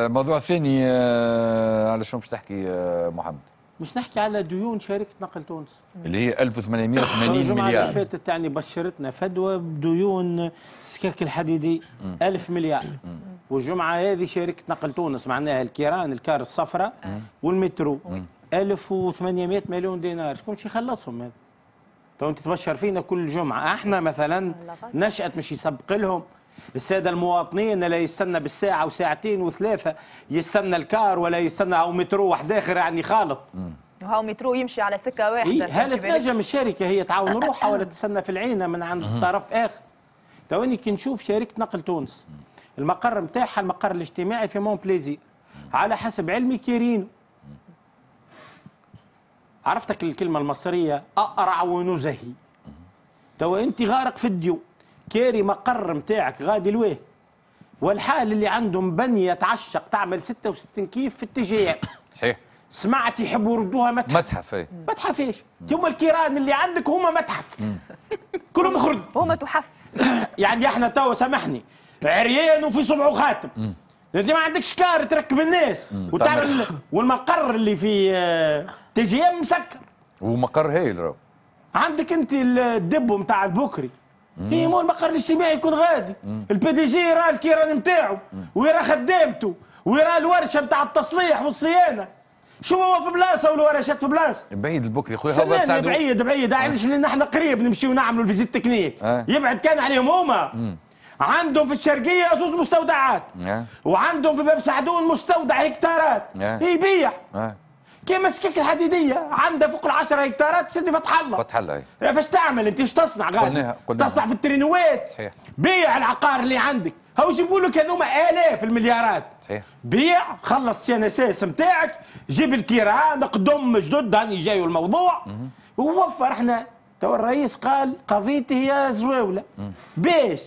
الموضوع الثاني على شنو باش تحكي محمد؟ مش نحكي على ديون شركة نقل تونس اللي هي 1880 الجمعة مليار. اللي فاتت يعني بشرتنا فدوى بديون سكاك الحديدي 1000 مليار. والجمعة هذه شركة نقل تونس معناها الكيران الكار الصفراء والمترو 1800 مليون دينار، شكون باش يخلصهم هذا؟ تو انت تبشر فينا كل جمعة، احنا مثلا نشأت مش يسبق لهم السادة المواطنين لا يستنى بالساعة وساعتين وثلاثة، يستنى الكار ولا يستنى او مترو واحد اخر يعني خالط. وهاو مترو يمشي على سكة واحدة. إيه؟ هل تنجم الشركة هي تعاون روحها ولا تستنى في العينة من عند طرف اخر؟ تواني كي نشوف شركة نقل تونس المقر نتاعها المقر الاجتماعي في مون بليزير على حسب علمي كيرينو. عرفتك الكلمة المصرية اقرع ونزهي. تو انت غارق في الديون، كاري مقر نتاعك غادي لويه، والحال اللي عندهم بنيه تعشق تعمل 66 كيف في ال TGM. صحيح. سمعت يحبوا يردوها متحف. متحف اي. متحف ايش؟ هما الكيران اللي عندك هما متحف. كلهم خرد. هما تحف. يعني احنا توا سامحني عريان وفي صبعه خاتم. انت ما عندكش كار تركب الناس وتعمل، والمقر اللي في TGM مسكر. ومقر هايل راهو. عندك انت ال dépôt نتاع البكري. هي مو المقر الاجتماعي يكون غادي، ال PDG يرى الكيران نتاعو ويرى خدامته ويرى الورشة نتاع التصليح والصيانه. شو هو في بلاصة والورشات في بلاصة؟ بعيد البكري خويا، هو بعيد بعيد، علاش؟ لان احنا قريب نمشيو نعملوا ال visite technique. يبعد كان عليهم هما. عندهم في الشرقية زوز مستودعات. وعندهم في باب سعدون مستودع هكتارات. يبيع. كيما السكك الحديدية عندها فوق 10 هكتارات سيدي فتح الله. فتح الله. فاش تعمل انت؟ ايش تصنع غادي؟ تصنع في الترينوات. صحيح. بيع العقار اللي عندك، هاو يجيبوا لك هذوما الاف المليارات. صحيح. بيع، خلص CNSS نتاعك، جيب الكيران، قدم جدد، هاني جاي الموضوع. ووفر. احنا تو الرئيس قال قضيتي هي زواوله. باش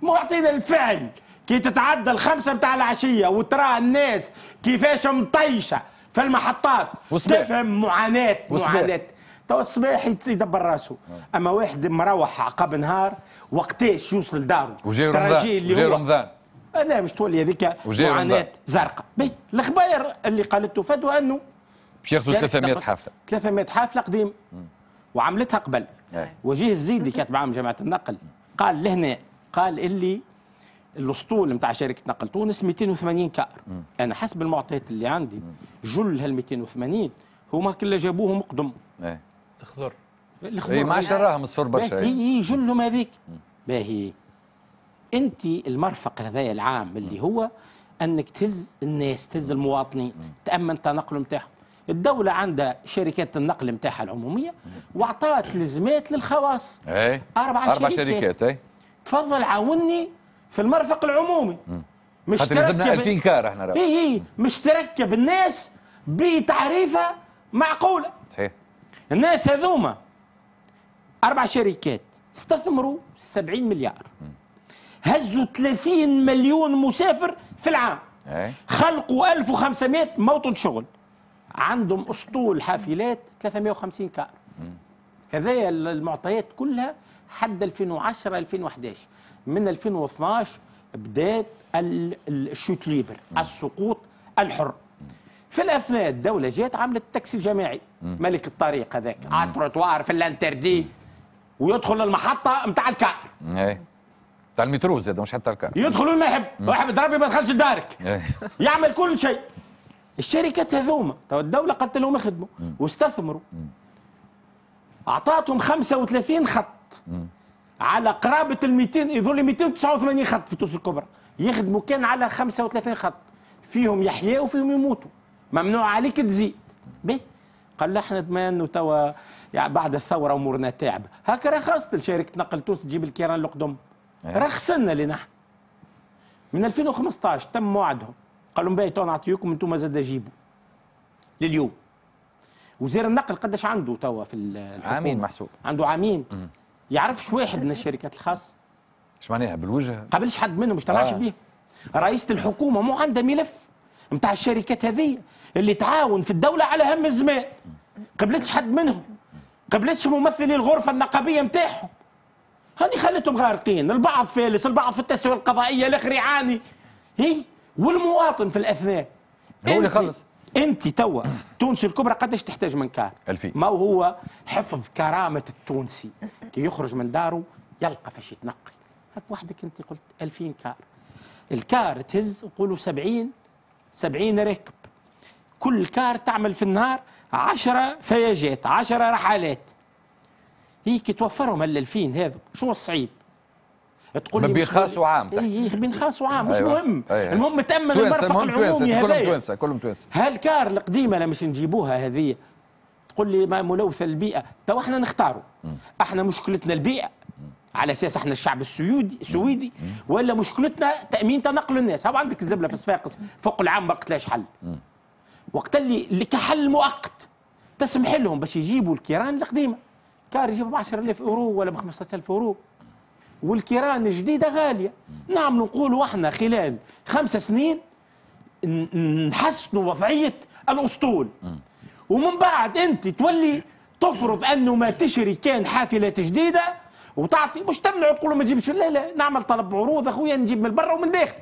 مو يعطينا الفعل كي تتعدى 5 نتاع العشية وترى الناس كيفاش مطيشه في المحطات تفهم معاناة معاناة. تو الصباح يدبر راسه، اما واحد مروح عقب نهار وقتاش يوصل لداره؟ وجاي رمضان. وجاي رمضان. انا مش تولي هذيك معاناة زرقاء. الخباير اللي قالته فدوى انه باش ياخذوا 300 حافلة. 300 حافلة قديم وعملتها قبل. وجيه الزيدي كاتب عام جامعة النقل قال لهنا، قال اللي الاسطول نتاع شركة نقل تونس 280 كار. انا حسب المعطيات اللي عندي جل هال 280 هما كل جابوهم قدم. الخضر. الخضر اي ما عادش راهم الصفر برشا. اي جلهم هذيك. باهي انت المرفق هذايا العام اللي هو انك تهز الناس، تهز المواطنين، تامن التنقل نتاعهم. الدولة عندها شركات النقل نتاعها العمومية واعطات لزمات للخواص. أربع شركات. اي تفضل عاوني في المرفق العمومي. مش تركب لازمنا 2000 كار احنا راه. اي مش تركب الناس بتعريفه معقولة. صحيح. الناس هذوما 4 شركات استثمروا 70 مليار. هزوا 30 مليون مسافر في العام. خلقوا 1500 موطن شغل. عندهم اسطول حافلات 350 كار. هذايا المعطيات كلها حد 2010 2011. من 2012 بدات ال chute libre، السقوط الحر. في الاثناء الدولة جات عملت التاكسي الجماعي، ملك الطريق هذاك على التروتوار في ال interdit ويدخل المحطة نتاع الكار. تاع المترو زاد مش حتى الكار. يدخل ما يحب، واحد ربي ما دخلش لدارك. يعمل كل شيء. الشركات هذوما تو الدولة قالت لهم اخدموا واستثمروا. اعطاتهم 35 خط. على قرابة ال 200، يظل 289 خط في تونس الكبرى، يخدموا كان على 35 خط، فيهم يحيوا وفيهم يموتوا، ممنوع عليك تزيد. به قال لا احنا بما انه توا يعني بعد الثورة امورنا تعب، هكا رخصت لشركة نقل تونس تجيب الكيران القدم. رخصنا لنا نحن. من 2015 تم وعدهم، قالوا لهم باهي تو نعطيكم انتم زاد جيبوا. لليوم. وزير النقل قداش عنده توا في الحكومة؟ عامين محسوب. عنده عامين. يعرفش واحد من الشركات الخاصة؟ ايش معناها بالوجه؟ قابلش حد منهم، مش تبعش بيه. رئيسة الحكومة مو عندها ملف نتاع الشركات هذه اللي تعاون في الدولة على هم الزمان. قبلتش حد منهم، قبلتش ممثلي الغرفة النقابية نتاعهم. هذه خلتهم غارقين، البعض فالس، البعض في التسوية القضائية، الآخر يعاني. هي والمواطن في الاثناء هو اللي يخلص. انت توا تونس الكبرى قداش تحتاج من car؟ 2000. ما هو حفظ كرامة التونسي كي يخرج من داره يلقى فاش يتنقل. هاك وحدك انت قلت 2000 car، ال car تهز نقولوا 70 70 راكب، كل car تعمل في النهار 10 فياجات، 10 رحلات. هي كي توفرهم ال 2000 هذا شو الصعيب؟ تقول ما لي بين مش خاص وعام تحكي. اي بين خاص وعام مش مهم. المهم تامن توانسة، المرفق المهم توانسة، العمومي كلهم هذايا. توانسه، كلهم توانسه. هال car القديمة اللي مش نجيبوها هذه تقول لي ما ملوثة البيئه. تو احنا نختاروا، احنا مشكلتنا البيئة على اساس احنا الشعب السويدي السويدي، ولا مشكلتنا تامين تنقل الناس؟ هاو عندك الزبله في صفاقس فوق العام ما لقيتلاش حل. وقت اللي كحل مؤقت تسمح لهم باش يجيبوا الكيران القديمه، car يجيبوا ب 10000 اورو ولا ب 15000 اورو، والكيران الجديدة غاليه. نعملوا نقولوا احنا خلال 5 سنين نحسنوا وضعية الاسطول، ومن بعد انت تولي تفرض انه ما تشري كان حافلات جديدة وتعطي، مش تمنع تقول ما تجيبش. لا لا، نعمل طلب عروض اخويا، نجيب من برا ومن داخل.